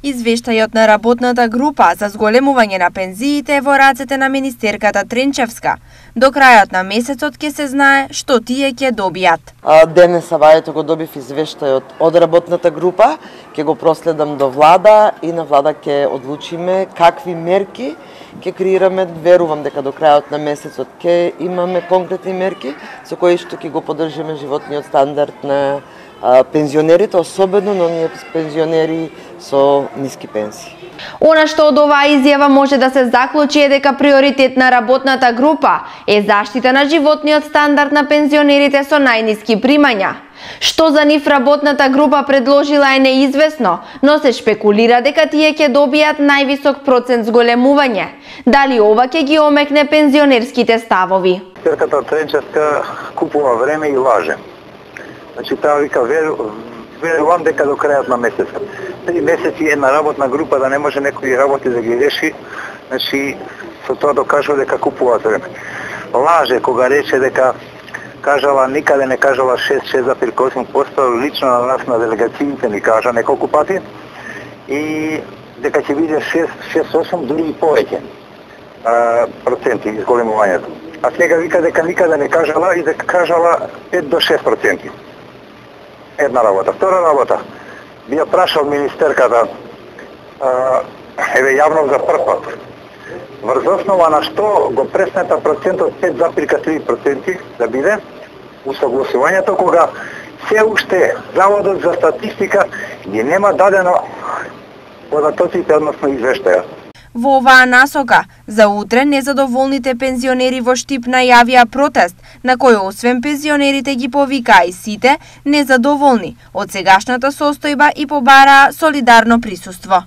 Извештајот на работната група за зголемување на пензиите е во рацете на министерката Тренчевска. До крајот на месецот ќе се знае што тие ќе добијат. Денес савајето го добив извештајот од работната група, ќе го проследам до влада и на влада ќе одлучиме какви мерки ќе креираме. Верувам дека до крајот на месецот ќе имаме конкретни мерки со кои што ќе го поддржиме животниот стандард на пензионерите, особено на оние пензионери со ниски пенсии. Она што од оваа изјава може да се заклучи е дека приоритет на работната група е заштита на животниот стандард на пензионерите со најниски примања. Што за нив работната група предложила е неизвестно, но се шпекулира дека тие ќе добијат највисок процент зголемување. Дали ова ќе ги омекне пензионерските ставови? Министерката Тренчевска купува време и лаже. Значи, таа вика, верувам дека до крајот на месецот. 3 месеци една работна група да не може некои работи да ги реши, значи, со тоа докажува дека купуваат време. Лаже кога рече дека кажала, никаде не кажала 6,8%, лично на нас на делегациите ни кажа неколку пати, и дека ќе биде 6,8, дури и повеќе проценти изголемувањето. А сега вика дека никаде не кажала и дека кажала 5 до 6%. Една работа. Втора работа. Би ја прашал министерката, јавно за прв пат, врз основа на што го преснета процентот 5,3% да биде усогласувањето, кога се уште Заводот за статистика ги нема дадено податоците, односно извештаја. Во оваа насока, за утре незадоволните пензионери во Штип најавија протест, на кој освен пензионерите ги повикаа и сите незадоволни од сегашната состојба и побараа солидарно присуство.